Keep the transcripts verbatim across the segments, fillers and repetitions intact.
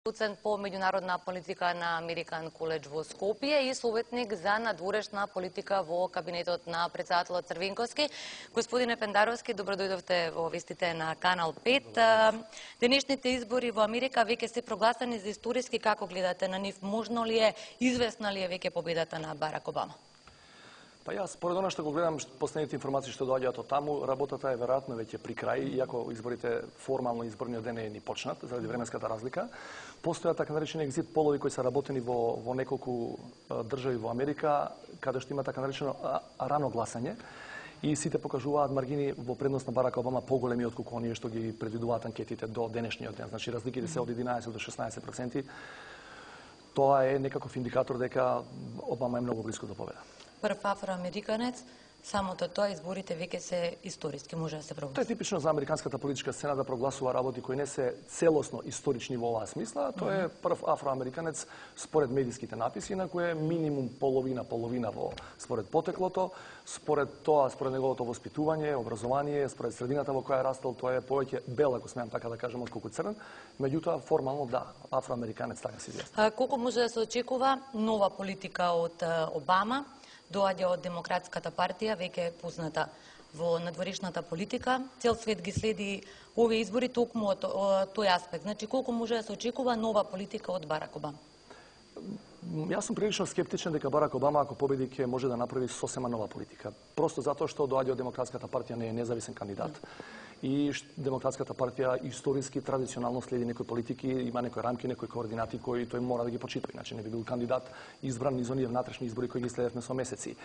Доцент по меѓународна политика на Американ коледж во Скопје и советник за надворешна политика во кабинетот на председателот Црвенковски. Господине Пендаровски, добро дојдовте во вестите на Канал пет. Денешните избори во Америка веќе се прогласени за историски. Како гледате на нив? Можно ли е, известна ли е веќе победата на Барак Обама? Па јас, според она што го гледам, последните информации што доаѓаат од таму, работата е веројатно веќе при крај, иако изборите формално изборниот ден е ни почнат заради временската разлика. Постојат така наречени екзит полови кои се работени во во неколку држави во Америка, каде што има така наречено рано гласање и сите покажуваат маргини во предност на Барак Обама поголеми отколку оние што ги предвидуваат анкетите до денешниот ден. Значи разликите се од единаесет до шеснаесет проценти. Тоа е некаков индикатор дека Обама е многу близко до победа. Прв афроамериканец, самото тоа изборите веќе се историски, може да се прогласи. Тоа е типично за американската политичка сцена да прогласува работи кои не се целосно исторични во оваа смисла. Тоа е прв афроамериканец според медиските написи, на кој е минимум половина половина во според потеклото, според тоа, според неговото воспитување, образование, според средината во која е растал, тоа е повеќе бел, ако смеам така да кажам, отколку црн. Меѓутоа формално да, афроамериканец така се известен. Колку може да се очекува нова политика од Обама? Доаѓа од Демократската партија, веќе е позната во надворешната политика. Цел свет ги следи овие избори токму од тој аспект. Значи, колку може да се очекува нова политика од Барак Обама? Јас сум прилично скептичен дека Барак Обама, ако победи, ќе може да направи сосема нова политика. Просто затоа што доаѓа од Демократската партија, не е независен кандидат. И Демократската партија историски, традиционално следи некои политики, има некои рамки, некои координати кои тој мора да ги почитува, иначе не би бил кандидат избран низ оние внатрешни избори кои ги следевме со месеци.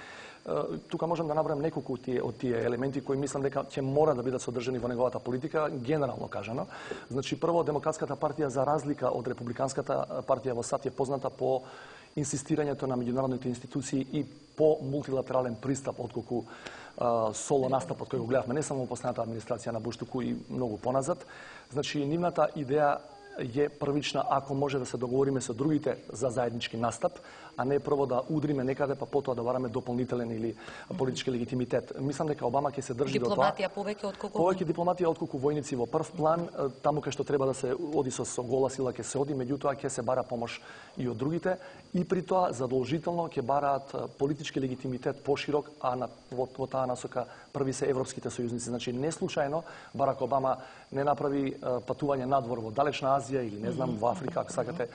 Тука можам да набројам неколку од тие, од тие елементи кои мислам дека ќе мора да бидат содржани во неговата политика, генерално кажано. Значи, прво, Демократската партија, за разлика од Републиканската партија во САД, е позната по инсистирањето на меѓународните институции и по мултилатерален пристап, отколку а, соло настапот кој го гледавме не само во последната администрација на Буш, туку и многу поназад. Значи, нивната идеја е првична, ако може да се договориме со другите за заеднички настап, а не прво да удриме некаде, па потоа да бараме дополнителен или политички легитимитет. Мислам дека Обама ќе се држи до тоа. Дипломатија повеќе отколку повеќе дипломатија отколку војници во прв план, таму кај што треба да се оди со, со гола сила ќе се оди, меѓутоа ќе се бара помош и од другите и при тоа задолжително ќе бараат политички легитимитет поширок, а на, во, во таа насока први се европските сојузници. Значи не случајно Барак Обама не направи патување надвор во далечна Азија или не знам во Африка, ако сакате,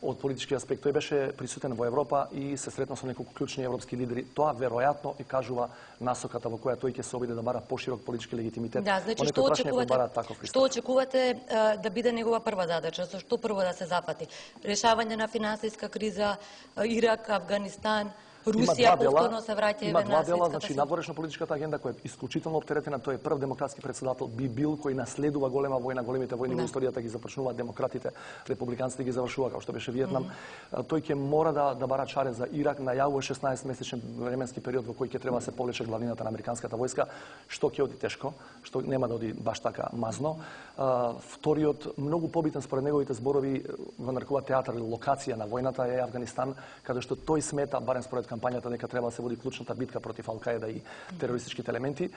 од политички аспект. Тој беше присутен во Европа и се сретна со неколку клучни европски лидери. Тоа веројатно и кажува насоката во која тој ќе се обиде да бара поширок политички легитимитет. Да, значи што очекувате, што очекувате а, да биде негова прва задача? Со што прво да се зафати? Решавање на финансиска криза, Ирак, Афганистан, Русија повторно се враќа има два дела, светската значи надворешно политичката агенда која е исклучително оптеретена, тој е прв демократски председател би бил кој наследува голема војна, големите војни во историјата ги започнуваат демократите, републиканците ги завршува како што беше Виетнам. Mm -hmm. Тој ќе мора да да бара чаре за Ирак, најавува шеснаесет месечен временски период во кој ќе треба да се повлече главнината на американската војска, што ќе оди тешко, што нема да оди баш така мазно. Uh, вториот многу побитен според неговите зборови во нарекува театар или локација на војната е Афганистан, каде што тој смета барем според кампањата дека треба да се води клучната битка против Ал-Каеда и терористичките елементи.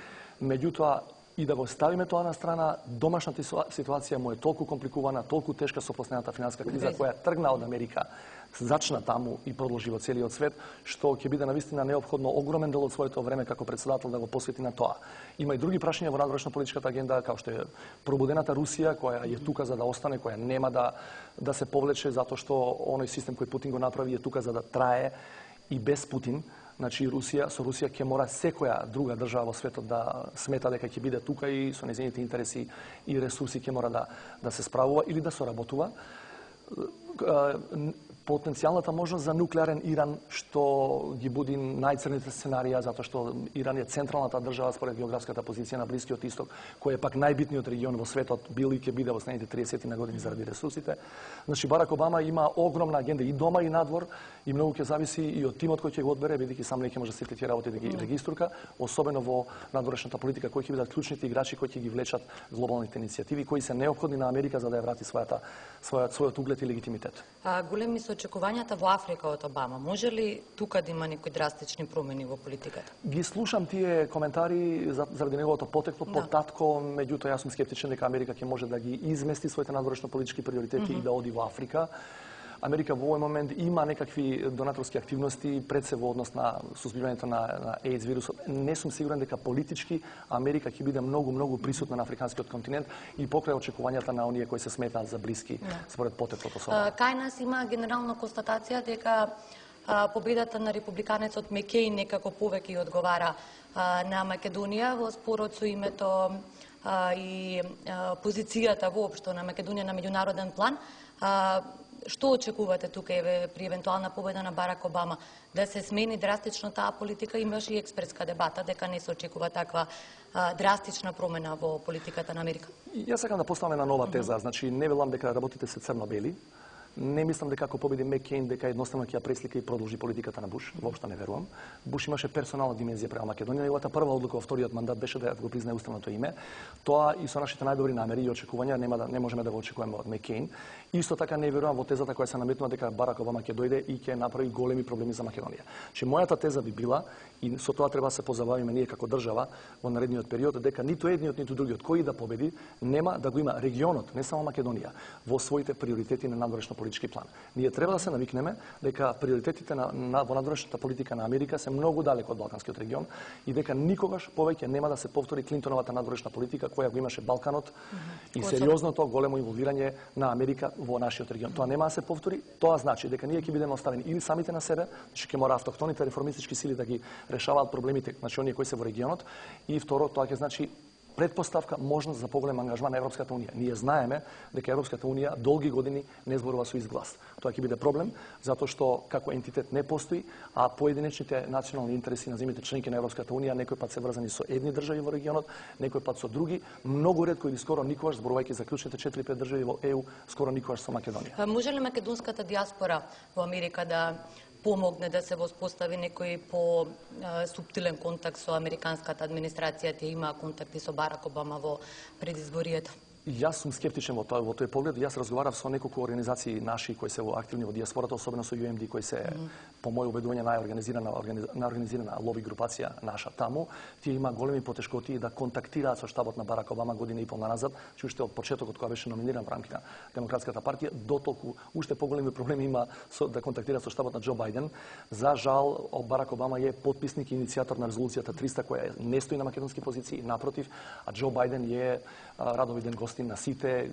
Меѓутоа, и да го ставиме тоа на страна, домашната ситуација му е толку компликувана, толку тешка со последната финансиска криза која тргна од Америка, зачна таму и продолжи во целиот свет, што ќе биде навистина неопходно огромен дел од своето време како председател да го посвети на тоа. Има и други прашања во надворешно политичката агенда, како што е пробудената Русија, која е тука за да остане, која нема да да се повлече затоа што оној систем кој Путин го направи е тука за да трае и без Путин. Значи Русија, со Русија ќе мора секоја друга држава во светот да смета дека ќе биде тука и со нејзините интереси и ресурси ќе мора да да се справува или да соработува. Потенцијалната можност за нуклеарен Иран, што ги буди најцрните сценарија, затоа што Иран е централната држава според географската позиција на Блискиот Исток, кој е пак најбитниот регион во светот, бил и ќе биде во следните триесет на години заради ресурсите. Значи Барак Обама има огромна агенда и дома и надвор и многу ќе зависи и од тимот кој ќе го одбере, бидејќи сам не ќе може сите тие работи да ги региструка, особено во надворешната политика, кои ќе бидат клучните играчи кои ќе ги влечат глобалните иницијативи, кои се неопходни на Америка за да ја врати својата својот својот углед и легитимитет. А големи се очекувањата во Африка од Обама? Може ли тука да има некои драстични промени во политиката? Ги слушам тие коментари заради неговото потекло, Да. потатко, меѓутоа јас сум скептичен дека Америка ќе може да ги измести своите надворешно политички приоритети mm -hmm. и да оди во Африка. Америка во овој момент има некакви донаторски активности пред се во однос на сузбивањето на, на AIDS вирусот. Не сум сигурен дека политички Америка ќе биде многу многу присутна на африканскиот континент и покрај очекувањата на оние кои се сметаат за блиски да. според потеклото со. Кај нас има генерална констатација дека а, победата на републиканецот Мекејн некако повеќе одговара а, на Македонија во спорот со името а, и а, позицијата воопшто на Македонија на меѓународен план. А, Што очекувате тука еве при евентуална победа на Барак Обама? Да се смени драстично таа политика? Имаше и експертска дебата дека не се очекува таква а, драстична промена во политиката на Америка. Јас сакам да поставам една нова теза. Значи, не велам дека работите се црно-бели. Не мислам дека ако победи Мекејн дека едноставно ќе ја преслика и продолжи политиката на Буш. Воопшто не верувам. Буш имаше персонална димензија према Македонија. Неговата прва одлука во вториот мандат беше да го признае уставното име. Тоа и со нашите најдобри намери и очекувања нема да не можеме да го очекуваме од Мекејн. Исто така не верувам во тезата која се наметнува дека Барак Обама ќе дојде и ќе направи големи проблеми за Македонија. Че мојата теза би била и со тоа треба да се позабавиме ние како држава во наредниот период дека ниту едниот ниту другиот кој да победи нема да го има регионот, не само Македонија, во своите приоритети на надворешно политички план. Ние треба да се навикнеме дека приоритетите на, на во надворешната политика на Америка се многу далеко од балканскиот регион и дека никогаш повеќе нема да се повтори Клинтоновата надворешна политика која го имаше Балканот mm -hmm. и сериозното големо инволвирање на Америка во нашиот регион. Тоа нема да се повтори. Тоа значи дека ние ќе бидеме оставени или самите на себе, значи ќе мора автохтоните реформистички сили да ги решаваат проблемите, значи оние кои се во регионот, и второ тоа ќе значи предпоставка можност за поголем ангажман на Европската унија. Ние знаеме дека Европската унија долги години не зборува со изглас. Тоа ќе биде проблем затоа што како ентитет не постои, а поединечните национални интереси на земјите членки на Европската унија некој пат се врзани со едни држави во регионот, некој пат со други, многу ретко или скоро никогаш, зборувајќи за клучните четири-пет држави во Е У, скоро никогаш со Македонија. Може ли македонската диаспора во Америка да помогне да се воспостави некој по субтилен контакт со американската администрација? Тие имаа контакти со Барак Обама во предизборието. Јас сум скептичен во тој во тој поглед. Јас разговарав со неколку организации наши кои се во активни во диаспората, особено со Ю Ем Ди кои се mm -hmm. по мој убедување најорганизирана најорганизирана лоби групација наша таму. Тие има големи потешкоти да контактираат со штабот на Барак Обама година и пол назад, че уште од почетокот кога беше номиниран во рамките на Демократската партија, дотолку уште поголеми проблеми има со да контактираат со штабот на Џо Бајден. За жал, Барак Обама е потписник и иницијатор на резолуцијата триста која не стои на македонски позиции, напротив, а Џо Бајден е радовиден гост на сите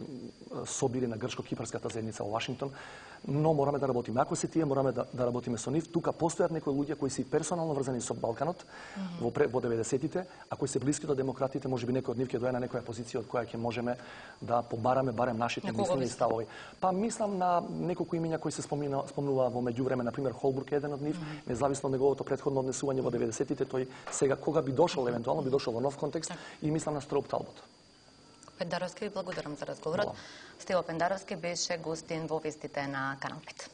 собири на грчко-кипарската заедница во Вашингтон, но мораме да работиме. Ако се тие, мораме да, да работиме со нив. Тука постојат некои луѓе кои се персонално врзани со Балканот mm -hmm. во, во деветдесетите, а кои се блиски до демократите, можеби некој од нив ќе дојде на некоја позиција од која ќе можеме да побараме барем нашите мислени и ставови. Па мислам на неколку имиња кои се спомина, спомнува во меѓувреме, на пример Холбрук е еден од нив, mm -hmm. независно од неговото претходно однесување во деветдесетите, тој сега кога би дошол, евентуално би дошол во нов контекст, и мислам на Строуп Талбот. Пендаровски, ви благодарам за разговорот. Стево Пендаровски беше гостин во вестите на Канал пет.